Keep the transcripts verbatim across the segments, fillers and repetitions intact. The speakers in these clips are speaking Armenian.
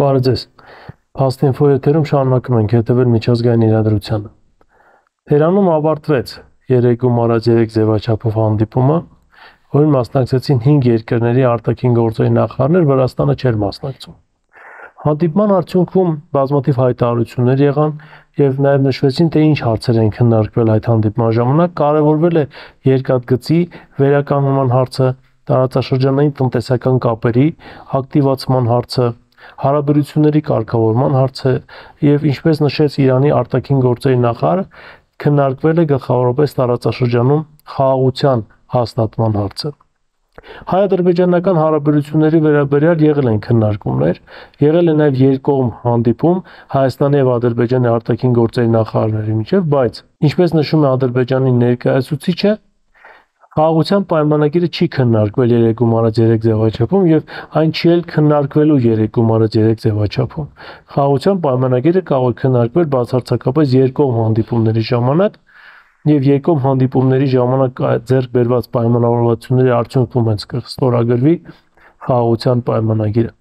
Բարև ձեզ։ Փաստինֆո եթերում շարունակում ենք հետևել միջազգային իրադրությանը։ Թերանում ավարտվեց երեկում առած երեք ձևաչափով հանդիպումը, որին մասնակցեցին հինգ երկրների արտաքին գործերի նախարարներ, Վրաստանը չէր մասնակցում։ Հանդիպման արդյունքում բազմաթիվ հայտարարություններ եղան եւ նաեւ նշվեցին, թե ինչ հարցեր են քննարկվել այդ հանդիպման ժամանակ, կարևորվել է երկաթգծի վերականգնման հարցը, տարածաշրջանային տնտեսական կապերի ակտիվացման հարցը, հարաբերությունների կարգավորման հարցը եւ ինչպես նշեց Իրանի արտաքին գործերի նախարարը, քննարկվել է գլխավորապես տարածաշրջանում խաղաղության հաստատման հարցը։ Հայ-ադրբեջանական հարաբերությունների վերաբերյալ եղել են քննարկումներ, եղել է նաեւ երկկողմ հանդիպում Հայաստանի եւ Ադրբեջանի արտաքին գործերի նախարարների միջեւ, բայց ինչպես նշում է Ադրբեջանի ներկայացուցիչը, խաղաղության պայմանագիրը չի քննարկվել երեկում առած երեք ձևաչափում եւ այն չի էլ քննարկվելու երեկում առած երեք ձևաչափում։ Խաղաղության պայմանագիրը կարող է քննարկվել բացարձակապես երկկողմ հանդիպումների ժամանակ եւ երկկողմ հանդիպումների ժամանակ ձեռք բերված պայմանավորվածությունների արդյունքում հենց կստորագրվի խաղաղության պայմանագիրը։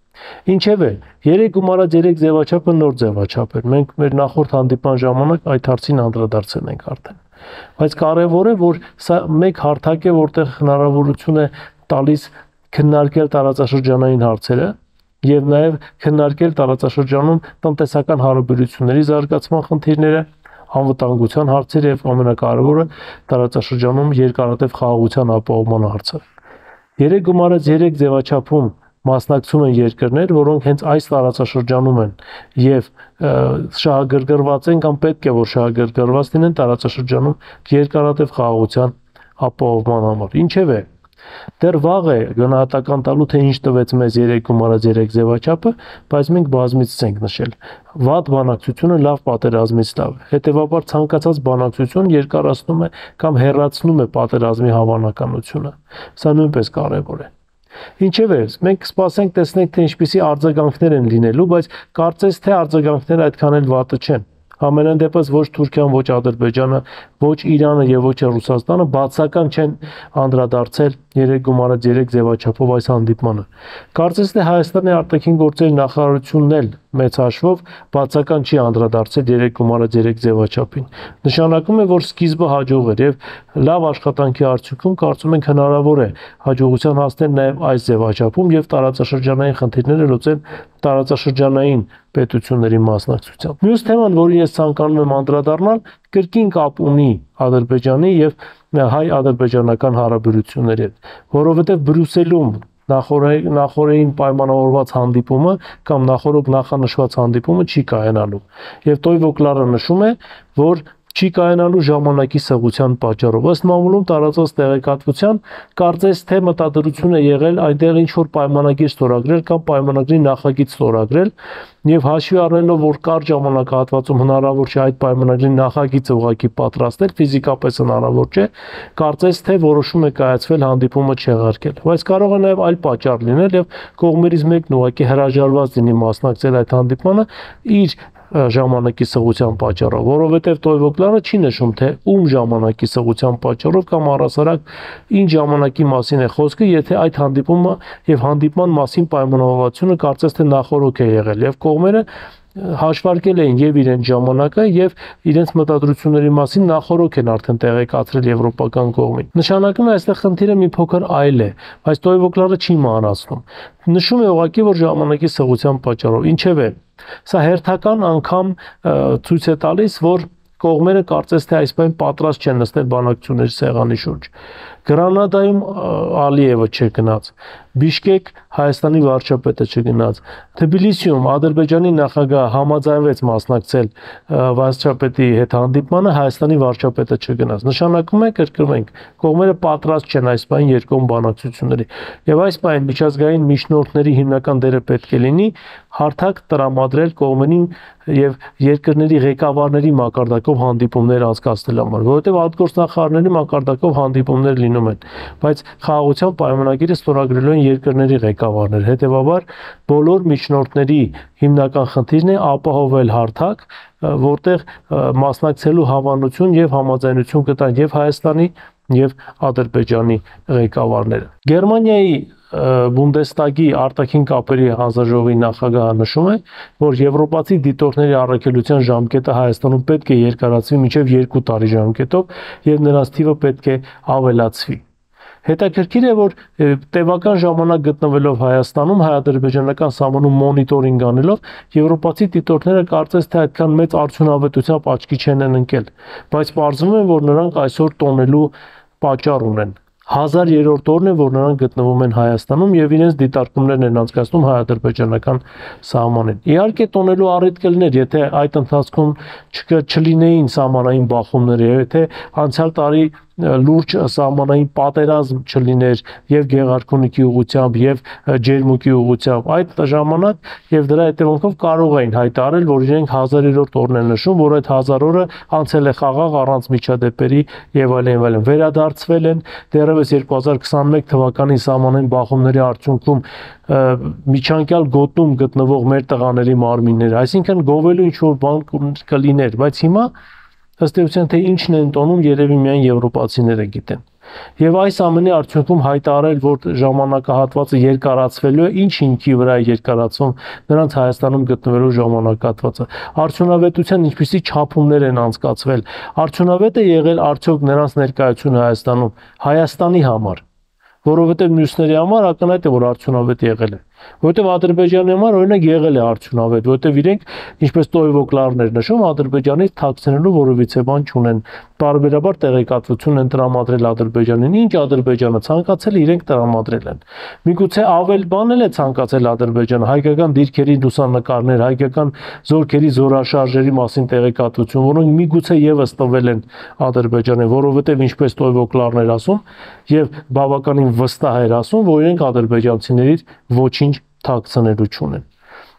Ինչևէ, երեկում առած երեք ձևաչափը նոր ձևաչափ էր։ Մենք մեր նախորդ հանդիպման ժամանակ այդ հարցին անդրադարձել ենք արդեն։ Բայց կարևոր է, որ սա մեկ հարթակ է, որտեղ հնարավորություն է տալիս քննարկել տարածաշրջանային հարցերը եւ նաեւ քննարկել տարածաշրջանում տնտեսական հարաբերությունների զարգացման խնդիրները, անվտանգության հարցերը եւ ամենակարևորը տարածաշրջանում երկարատև խաղաղության ապահովման հարցը։ Երեկում առած երեք ձևաչափում մասնակցում են երկրներ, որոնք հենց այս տարածաշրջանում են եւ շահագրգռված են կամ պետք է որ շահագրգռված լինեն տարածաշրջանում երկարատև խաղաղության ապահովման համար։ Ինչևէ, դեռ վաղ է գնահատական տալու, թե ինչ տվեց մեզ երեկում առած երեք ձևաչափը, բայց մենք բազմիցս ենք նշել։ Վատ բանակցությունը լավ պատերազմից լավ է։ Հետևաբար ցանկացած բանակցություն երկարացնում է կամ հեռացնում է պատերազմի հավանականությունը։ Սա նույնպես կարևոր է։ Ինչևէ, մենք սպասենք տեսնենք, թե ինչպիսի արձագանքներ են լինելու, բայց կարծես թե արձագանքները այդքան էլ վատը չեն։ Համենայն դեպս ոչ Թուրքիան, ոչ Ադրբեջանը, ոչ Իրանը եւ ոչ Ռուսաստանը բացական չեն անդրադարձել երեկում առած երեք ձևաչափով այս հանդիպմանը։ Կարծես թե Հայաստանի արտաքին գործերի նախարարությունն էլ մեծ հաշվով բացական չի անդրադարձել երեկում առած երեք ձևաչափին։ Նշանակում է, որ սկիզբը հաջող էր եւ լավ աշխատանքի արդյունքում կարծում ենք հնարավոր է հաջողության հասնել նաեւ այս ձևաչափում եւ տարածաշրջանային խնդիրները լուծել տարածաշրջանային պետությունների մասնակցությամբ։ Մյուս թեման, որին ես ցանկանում եմ անդրադառնալ, կրկին կապ ունի Ադրբեջանի եւ հայ-ադրբեջանական հարաբերությունների հետ, որովհետեւ Բրյուսելում նախորդային պայմանավորված հանդիպումը կամ նախորդ նախանշված հանդիպումը չի կայանալու։ Եվ Տոյվոկլարը նշում է, որ չի կայանալու ժամանակի սղության պատճառով։ Ըստ մամուլում տարածված տեղեկատվության, կարծես թե մտադրություն է եղել այնտեղ ինչ որ պայմանագիր ստորագրել կամ պայմանագրի նախագիծ ստորագրել եւ հաշվի առնելով, որ կարճ ժամանակահատվածում հնարավոր չէ այդ պայմանագրի նախագիծը ուղղակի պատրաստել, ֆիզիկապես հնարավոր չէ, կարծես թե որոշում է կայացվել հանդիպումը չեղարկել։ Բայց կարող է նաեւ այլ պատճառ լինել եւ կողմերից մեկն ուղղակի հրաժարված լինի մասնակցել այդ հանդիպմանը իր ժամանակի սղության պատճառով, որովհետև Տոյվոկլարը չի նշում, թե ում ժամանակի սղության պատճառով կամ առասարակ ինչ ժամանակի մասին է խոսքը, եթե այդ հանդիպումը եւ հանդիպման մասին պայմանավորվածությունը կարծես թե նախորոք է եղել եւ կողմերը հաշվարկել էին եւ իրենց ժամանակը եւ իրենց մտադրությունների մասին նախորոք են արդեն տեղեկացրել եվրոպական կողմին։ Նշանակում է այստեղ խնդիրը մի փոքր այլ է, բայց Տոյվոկլարը չի մանրացնում։ Նշում է ուղղակի, որ ժամանակի սղության պատճառով, ինչևէ, սա հերթական անգամ ցույց է տալիս, որ կողմերը կարծես թե այս բան պատրաստ չեն նստել բանակցությունների սեղանի շուրջ։ Գրանադայում Ալիևը չգնաց, Բիշկեք Հայաստանի վարչապետը չգնաց, Թբիլիսիում Ադրբեջանի նախագահը համաձայնվեց մասնակցել վարչապետի հետ հանդիպմանը, Հայաստանի վարչապետը չգնաց։ Նշանակում է, կրկնենք, կողմերը պատրաստ չեն այս բան երկկողմ բանակցությունների։ Եվ այս բան միջազգային միջնորդների հիմնական դերը պետք է լինի հարթակ տրամադրել կողմերին եւ երկրների ղեկավարների մակարդակով հանդիպումներ անցկացնել համար, որովհետեւ արտգործնախարարների մակարդակով հանդիպումներ լինում են, բայց խաղաղության պայմանագիրը ստորագրելու են երկրների ղեկավարներ, հետեւաբար բոլոր միջնորդների հիմնական խնդիրն է ապահովել հարթակ, որտեղ մասնակցելու հավանություն եւ համաձայնություն կտան եւ Հայաստանի եւ Ադրբեջանի ղեկավարները։ Գերմանիայի Բունդեստագի արտաքին կապերի հանձնաժողովի նախագահը նշում է, որ եվրոպացի դիտորդների առաքելության ժամկետը Հայաստանում պետք է երկարացվի մինչև երկու տարի ժամկետով եւ նրանց թիվը պետք է ավելացվի։ Հետաքրքիր է, որ տևական ժամանակ գտնվելով Հայաստանում հայ-ադրբեջանական սահմանում մոնիտորինգ անելով եվրոպացի դիտորդները կարծես թե այդքան մեծ արդյունավետությամբ աչքի չեն ընկել, բայց պարզվում է, որ նրանք այսօր տոնելու պատճառ ունեն։ Հազար երրորդ օրն է, որ նրանք գտնվում են Հայաստանում եւ իրենց դիտարկումներն են անցկացնում հայ-ադրբեջանական սահմանին։ Իհարկե տոնելու առիթ կլիներ, եթե այդ ընթացքում չլինեին սահմանային բախումներ, եթե անցյալ տարի լուրջ սահմանային պատերազմ չլիներ եւ Գեղարքունիքի ուղությամբ եւ Ջերմուկի ուղությամբ, այդ ժամանակ եւ դրա հետևանքով կարող էին հայտարարել, որ իրենք հազար երրորդ օրն են նշում, որ այդ հազար օրը անցել է խաղաղ առանց միջադեպերի եւ այլն այլն։ Վերադարձվել են դեռևս երկու հազար քսաներեք թվականի սահմանային բախումների արդյունքում միջանկյալ գոտում գտնվող մեր տղաների մարմինները, այսինքն գովելու ինչ որ բան կլիներ, բայց հիմա ըստ էության թե ինչն են տոնում, երևի միայն եվրոպացիները գիտեն։ Եվ այս ամենի արդյունքում հայտարարել, որ ժամանակահատվածը երկարացվելու է, ինչ հիմքի վրա է երկարացվում նրանց Հայաստանում գտնվելու ժամանակահատվածը։ Արդյունավետության ինչպիսի չափումներ են անցկացվել։ Արդյունավետ է եղել արդյոք նրանց ներկայությունը Հայաստանում Հայաստանի համար, որովհետև մյուսների համար ակնհայտ է, որ արդյունավետ եղել է։ Որտեւ Ադրբեջանի համար օրինակ եղել է արդյունավետ, որտեւ իրենք ինչպես Տոյվոկլարներ նշում, Ադրբեջանից թաքցնելու որևիցե բան չունեն։ Բարբերաբար տեղեկատվություն են տրամադրել Ադրբեջանին, ինչ Ադրբեջանը ցանկացել է, իրենք տրամադրել են։ Միգուցե ավել բան էլ է ցանկացել Ադրբեջանը, հայկական դիրքերի լուսանկարներ, հայկական զորքերի զորաշարժերի մասին տեղեկատվություն, որոնք միգուցե եւս տվել են Ադրբեջանին, որովհետեւ ինչպես Տոյվոկլարներ ասում եւ բավականին վստահ էր ասում, որ իրենք ադրբեջանցիներից ոչինչ թաքցնելու չունեն։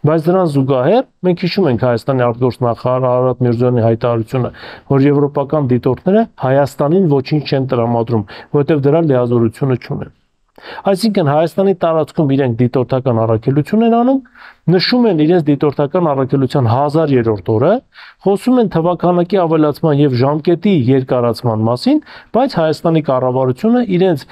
Բայց դրան զուգահեռ մենք հիշում ենք Հայաստանի արտգործնախարար Արարատ Միրզոյանի հայտարարությունը, որ եվրոպական դիտորդները Հայաստանին ոչինչ չեն տրամադրում, որովհետև դրա լիազորությունը չունեն։ Այսինքն Հայաստանի տարածքում իրենք դիտորդական առաքելություն են անում, նշում են իրենց դիտորդական առաքելության հազար երրորդ օրը, խոսում են թվականակի ավելացման եւ ժամկետի երկարացման մասին, բայց Հայաստանի կառավարությունը իրենց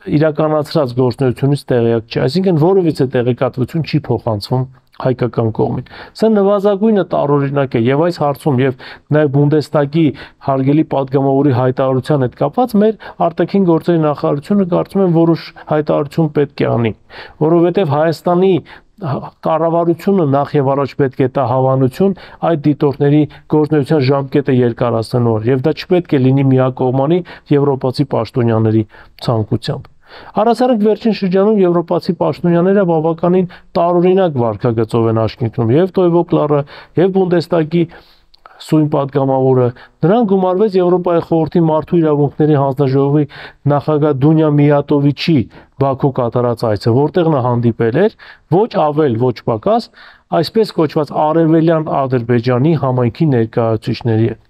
իրականացրած գործունեությունից տեղյակ չէ, այսինքն որևիցե տեղեկատվություն չի փոխանցվում հայկական կողմին։ Սա նվազագույնը տարօրինակ է եւ այս հարցում եւ նաեւ Բունդեստագի հարգելի падգամավորի հայտարարության հետ կապված մեր արտաքին գործերի նախարարությունը կարծում եմ որոշ հայտարարություն պետք է անի, որովհետեւ Հայաստանի կառավարությունը նախ եւ առաջ պետք է տա հավանություն այդ դիտորդների գործունեության ժամկետը երկարացնելու եւ դա չպետք է լինի միակողմանի եվրոպացի պաշտոնյաների ցանկությամբ։ Առասարակ վերջին շրջանում եվրոպացի պաշտոնյաները բավականին տարօրինակ վարքագծով են աշխատում եւ Տոյվոկլարը եւ Բունդեստագի սույն падգամավորը, նրան գումարվեց Եվրոպայի խորհրդի մարդու իրավունքների հանձնաժողովի նախագահ Դունյա Միատովիչի Բաքու կատարած այցը, որտեղ նա հանդիպել էր ոչ ավել, ոչ պակաս, այսպես կոչված արևելյան Ադրբեջանի համայնքի ներկայացուցիչների հետ։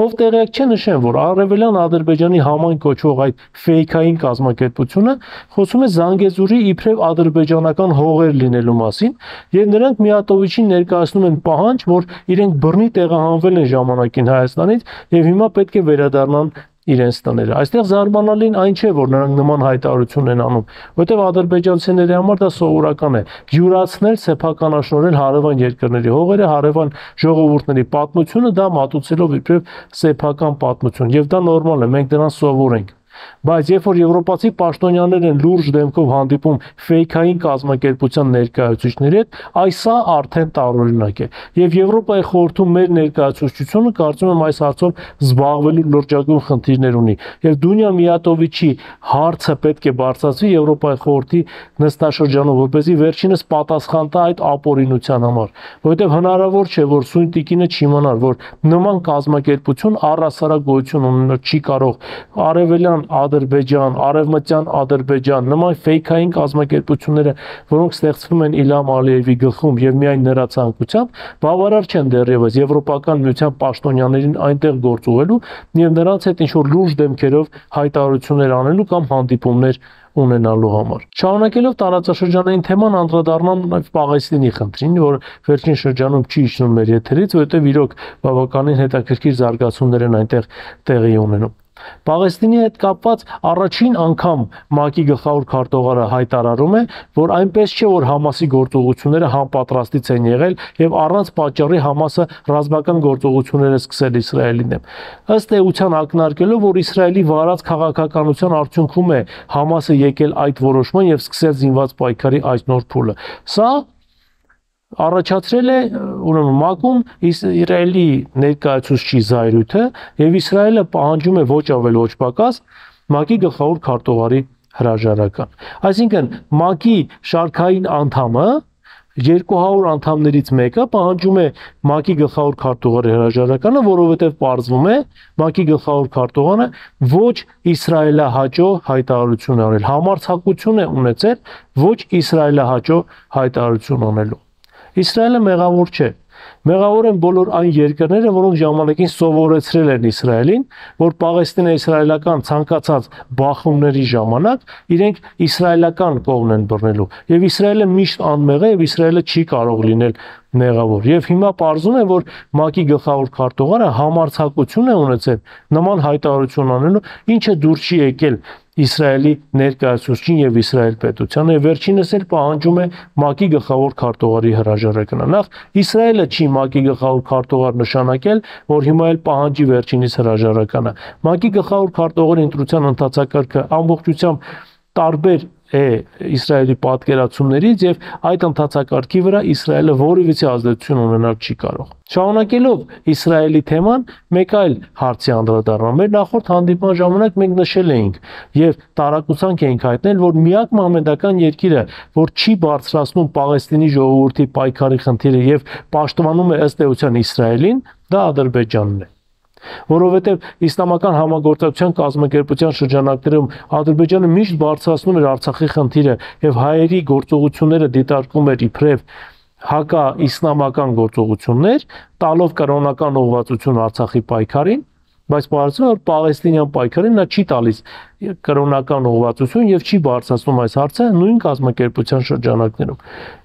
Ով տեղյակ չէ, նշեմ, որ արևելյան Ադրբեջանի համայն կոչվող այդ ֆեյքային կազմակերպությունը խոսում է Զանգեզուրի իբրև ադրբեջանական հողեր լինելու մասին, եւ նրանք Միատովիչին ներկայացնում են պահանջ, որ իրենք բռնի տեղահանվել են ժամանակին Հայաստանից եւ հիմա պետք է վերադառնան իրենց տները։ Այստեղ զարմանալին այն չէ, որ նրանք նման հայտարարություն են անում, որտեղ ադրբեջանցիների համար դա սովորական է յուրացնել, սեփականաշնորհել հարևան երկրների հողերը, հարևան ժողովուրդների պատմությունը, դա մատուցելով իբրև սեփական պատմություն, եւ դա նորմալ է, մենք դրան սովոր ենք։ Բայց երբ որ եվրոպացի պաշտոնյաներ են լուրջ դեմքով հանդիպում ֆեյքային կազմակերպության ներկայացուցիչների հետ, այս սա արդեն տարօրինակ է։ Եվ Եվրոպայի խորհրդում մեր ներկայացուցչությունը կարծում եմ այս հարցով զբաղվելու լրջագույն խնդիրներ ունի։ Եվ Դունյա Միատովիչի հարցը պետք է բարձրացվի Եվրոպայի խորհրդի նստաշրջանում, որպեսզի վերջինս պատասխան տա այդ ապօրինության համար, որովհետև հնարավոր չէ, որ սույն տիկինը չիմանար, որ նման կազմակերպություն առհասարակ գոյություն ունենալ չի կարող արևելյան Ադրբեջան, արևմտյան Ադրբեջան, նման ֆեյքային կազմակերպությունները, որոնք ստեղծվում են Իլհամ Ալիևի գլխում եւ միայն նրա ցանկությամբ, բավարար չեն դեռևս եվրոպական միության պաշտոնյաներին այնտեղ գործ ուղղելու եւ նրանց հետ ինչ որ լուրջ դեմքերով հայտարարություններ անելու կամ հանդիպումներ ունենալու համար։ Շարունակելով տարածաշրջանային թեման անդրադառնամ նաև Պաղեստինի խնդրին, որ վերջին շրջանում չի իջնում մեր եթերից, որովհետև իրոք բավականին հետաքրքիր զարգացումներ են այնտեղ տեղի ունենում։ Պաղեստինի հետ կապված առաջին անգամ ՄԱԿ-ի գլխավոր քարտուղարը հայտարարում է, որ այնպես չէ, որ Համասի գործողությունները համապատրաստից են եղել եւ առանց պատճառի Համասը ռազմական գործողություններ է սկսել Իսրայելի դեմ։ Ըստ էության ակնարկելով, որ Իսրայելի վարած քաղաքականության արդյունքում է Համասը եկել այդ որոշման եւ սկսել զինված պայքարի այս նոր փուլը։ Սա առաջացրել է ուրեմն ՄԱԿ-ում Իսրայելի ներկայացուցչի զայրույթը եւ Իսրայելը պահանջում է ոչ ավել ոչ պակաս ՄԱԿ-ի գլխավոր քարտուղարի հրաժարական։ Այսինքն ՄԱԿ-ի շարքային անդամը երկու հարյուր անդամներից մեկը պահանջում է ՄԱԿ-ի գլխավոր քարտուղարի հրաժարականը, որովհետեւ պարզվում է ՄԱԿ-ի գլխավոր քարտուղարը ոչ իսրայելահաճո հայտարարություն արել, համարձակություն է ունեցել ոչ իսրայելահաճո հայտարարություն անելու։ Իսրայելը մեղավոր չէ։ Մեղավոր են բոլոր այն երկրները, որոնք ժամանակին սովորեցրել են Իսրայելին, որ պաղեստինա-իսրայելական ցանկացած բախումների ժամանակ իրենք իսրայելական կողմն են բռնելու։ Եվ Իսրայելը միշտ անմեղ է եւ Իսրայելը չի կարող լինել մեղավոր։ Եվ հիմա պարզում է, որ ՄԱԿ-ի գլխավոր քարտուղարը համարձակություն է ունեցել նման հայտարարություն անելու, ինչը դուր չի եկել Իսրայելի ներկայացուցչին եւ Իսրայել պետությանը եւ վերջինս էլ պահանջում է ՄԱԿ-ի գլխավոր քարտուղարի հրաժարականը։ Նախ Իսրայելը չի ՄԱԿ-ի գլխավոր քարտուղար նշանակել, որ հիմա էլ պահանջի վերջինիս հրաժարականը։ ՄԱԿ-ի գլխավոր քարտուղարի ընտրության ընթացակարգը ամբողջությամբ տարբեր է Իսրայելի պատկերացումներից եւ այդ ընթացակարգի վրա Իսրայելը որևիցե ազդեցություն ունենալ չի կարող։ Շարունակելով Իսրայելի թեման, մեկ այլ հարցի անդրադառնամ։ Մեր նախորդ հանդիպման ժամանակ մենք նշել էինք եւ տարակուսանք էինք հայտնել, որ միակ մահմեդական երկիրը, որ չի բարձրացնում Պաղեստինի ժողովրդի պայքարի խնդիրը եւ պաշտպանում է ըստ էության Իսրայելին, դա Ադրբեջանն է։ Որովհետև իսլամական համագործակցության կազմակերպության շրջանակներում Ադրբեջանը միշտ բարձրացնում էր Արցախի խնդիրը եւ հայերի գործողությունները դիտարկում էր իբրև հակա-իսլամական գործողություններ, տալով կրոնական ուղղվածություն Արցախի պայքարին, բայց պարզվում է, որ Պաղեստինյան պայքարին նա չի տալիս կրոնական ուղղվածություն եւ չի բարձրացնում այս հարցը նույն կազմակերպության շրջանակներում։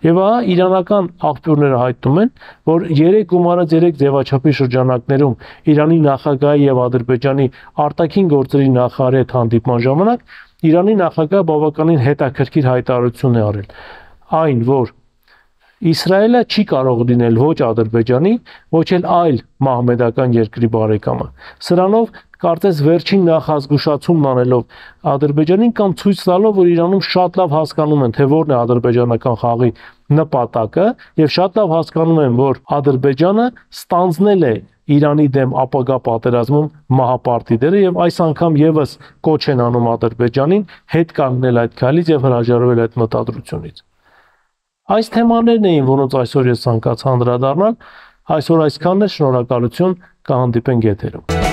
Եվ ահա իրանական աղբյուրները հայտնում են, որ երեք գումարած երեք ձևաչափի շրջանակներում Իրանի նախագահի եւ Ադրբեջանի արտաքին գործերի նախարարի հետ հանդիպման ժամանակ Իրանի նախագահը բավականին հետաքրքիր հայտարարություն է արել։ Այն, որ Իսրայելը չի կարող լինել ոչ Ադրբեջանի, ոչ էլ այլ մահմեդական երկրի բարեկամը։ Սրանով կարծես վերջին նախազգուշացումն անելով Ադրբեջանին կամ ցույց տալով, որ Իրանում շատ լավ հասկանում են, թե որն է ադրբեջանական խաղի նպատակը եւ շատ լավ հասկանում են, որ Ադրբեջանը ստանձնել է Իրանի դեմ ապագա պատերազմում մահապարտի դերը եւ այս անգամ եւս կոչ են անում Ադրբեջանին հետ կանգնել այդ քայլից եւ հրաժարվել այդ մտադրությունից։ Այս թեմաներն էին, որոնց այսօր ես ցանկացա անդրադառնալ, այսօր այսքանն է, շնորհակալություն, կհանդիպենք եթերում։